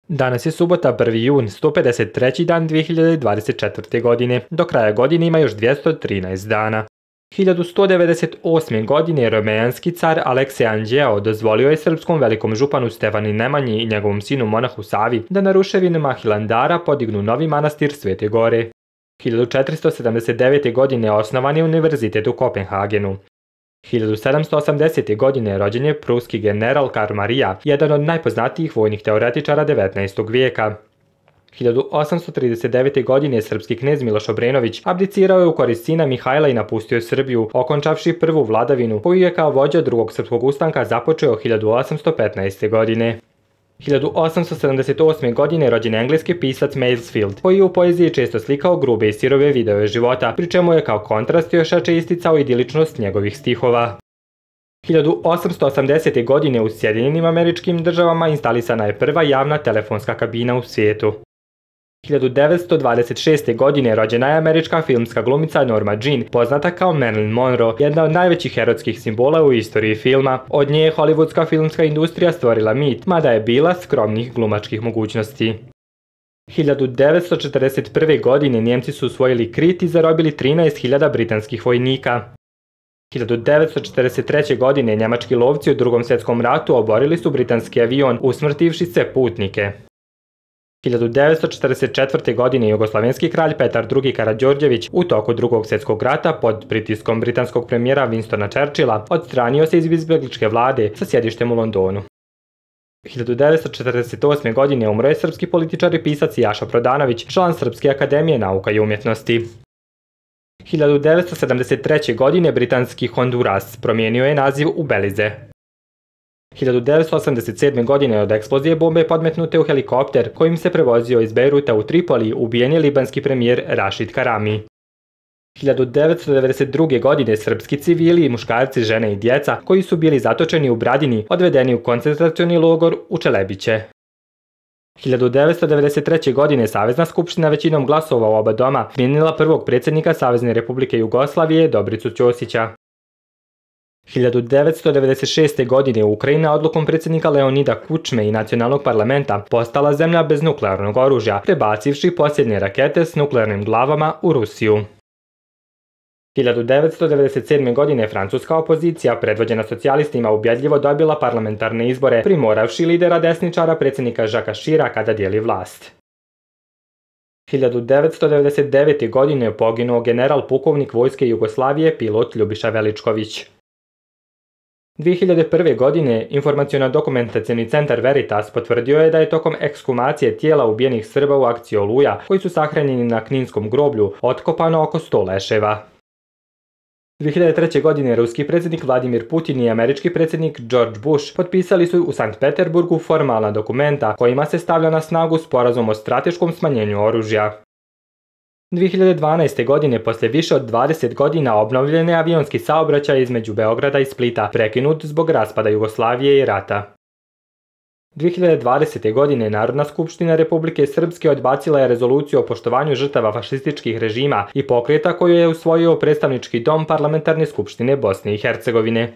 Danas je subota 1. jun, 153. dan 2024. godine. Do kraja godine ima još 213 dana. 1198. godine romeanski car Aleksej Anđeo dozvolio je srpskom velikom županu Stefanu Nemanji i njegovom sinu monahu Savi da na ruševinama Hilandara podignu novi manastir Svete Gore. 1479. godine osnovan je univerzitet u Kopenhagenu. 1780. godine rođen je pruski general Karl Marija, jedan od najpoznatijih vojnih teoretičara 19. vijeka. 1839. godine srpski knez Miloš Obrenović abdicirao je u korist sina Mihajla i napustio Srbiju, okončavši prvu vladavinu koju je kao vođa drugog srpskog ustanka započeo 1815. godine. 1878. godine rođen je engleski pisac Masefield, koji je u poeziji često slikao grube i sirove videove života, pri čemu je kao kontrast još jače isticao idiličnost njegovih stihova. 1880. godine u Sjedinjenim Američkim Državama instalisana je prva javna telefonska kabina u svijetu. 1926. godine rođena je američka filmska glumica Norma Jean, poznata kao Marilyn Monroe, jedna od najvećih erotskih simbola u istoriji filma. Od nje je hollywoodska filmska industrija stvorila mit, mada je bila skromnih glumačkih mogućnosti. 1941. godine Njemci su usvojili Krit i zarobili 13.000 britanskih vojnika. 1943. godine njemački lovci u Drugom svjetskom ratu oborili su britanski avion, usmrtivši sve putnike. 1944. godine jugoslavenski kralj Petar II. Karađorđević u toku Drugog svjetskog rata pod pritiskom britanskog premijera Winstona Churchilla odstranio se iz izbjegličke vlade sa sjedištem u Londonu. 1948. godine umro je srpski političar i pisac Jaša Prodanović, član Srpske akademije nauka i umjetnosti. 1973. godine britanski Honduras promijenio je naziv u Belize. 1987. godine od eksplozije bombe podmetnute u helikopter kojim se prevozio iz Bejruta u Tripoli ubijen je libanski premijer Rašid Karami. 1992. godine srpski civili, muškarci, žene i djeca koji su bili zatočeni u Bradini odvedeni u koncentracioni logor u Čelebiće. 1993. godine Savezna skupština većinom glasova u oba doma smijenila prvog predsjednika Savezne Republike Jugoslavije Dobricu Ćosića. 1996. godine Ukrajina odlukom predsjednika Leonida Kučme i nacionalnog parlamenta postala zemlja bez nuklearnog oružja, prebacivši posljednje rakete s nuklearnim glavama u Rusiju. 1997. godine francuska opozicija, predvođena socijalistima, ubjedljivo dobila parlamentarne izbore, primoravši lidera desničara predsjednika Žaka Širaka da dijeli vlast. 1999. godine poginuo general pukovnik vojske Jugoslavije pilot Ljubiša Veličković. 2001. godine Informaciono-dokumentacioni centar Veritas potvrdio je da je tokom ekshumacije tijela ubijenih Srba u akciji Oluja, koji su sahranjeni na Kninskom groblju, otkopano oko 100 leševa. 2003. godine ruski predsjednik Vladimir Putin i američki predsjednik George Bush potpisali su u Sankt Peterburgu formalna dokumenta kojima se stavlja na snagu sporazum o strateškom smanjenju oružja. 2012. godine, poslije više od 20 godina, obnovljen je avionski saobraćaj između Beograda i Splita, prekinut zbog raspada Jugoslavije i rata. 2020. godine Narodna skupština Republike Srpske odbacila je rezoluciju o poštovanju žrtava fašističkih režima i pokreta koju je usvojio predstavnički dom Parlamentarne skupštine Bosne i Hercegovine.